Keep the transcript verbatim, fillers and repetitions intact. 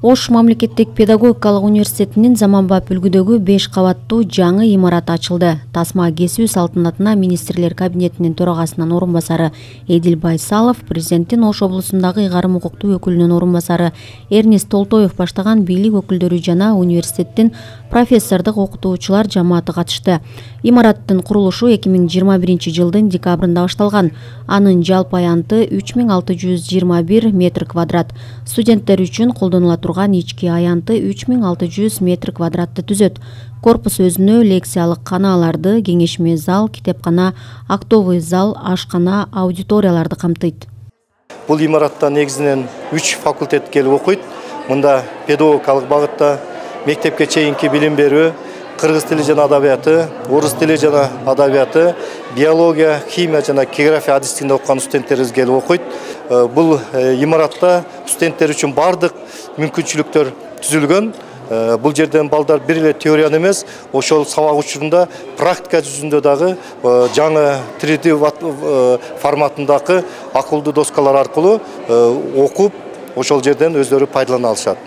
Ош мамлекеттик педагогикалык университетинин заманбап үлгүдөгү беш кабаттуу жаңы имараты ачылды. Тасма кесүү салтанатына министрлер кабинетинин төрагасынын орун басары Эдил Байсалов, президенттин Ош облусундагы ыйгарым укуктуу өкүлүнүн орун басары Эрнест Толтоев баштаган бийлик өкүлдөрү жана университеттин профессордук окутуучулар жамааты катышты. Имараттын курулушу эки миң жыйырма биринчи жылдын декабрында башталган. Анын жалпы аянты үч миң алты жүз жыйырма бир метр квадрат. Студенттер үчүн колдонула турган ички аянты үч миң алты жүз метр квадратты түзөт. Корпус өзүнө лекциялык канааларды, кеңешме зал, китепкана, актовый зал, ашкана, аудиторияларды камтыйт. Бул имаратта негизинен үч факультет келип окуйт. Мында педагогикалык багытта мектепке чейинки билим берүү, кыргыз тили жана адабияты, орус тили жана адабияты, биология, химия жана география адистигинде окуган студенттерибиз келип окуйт. Бул имаратта студенттер үчүн бардык мүмкүнчүлүктөр түзүлгөн. Бул жерден балдар бир эле теорияны эмес, ошол сабак учурунда практика жүзүндө дагы жаңы три дэ форматындагы акылдуу доскалар аркылуу окуп, ошол жерден өздөрү пайдалана алышат.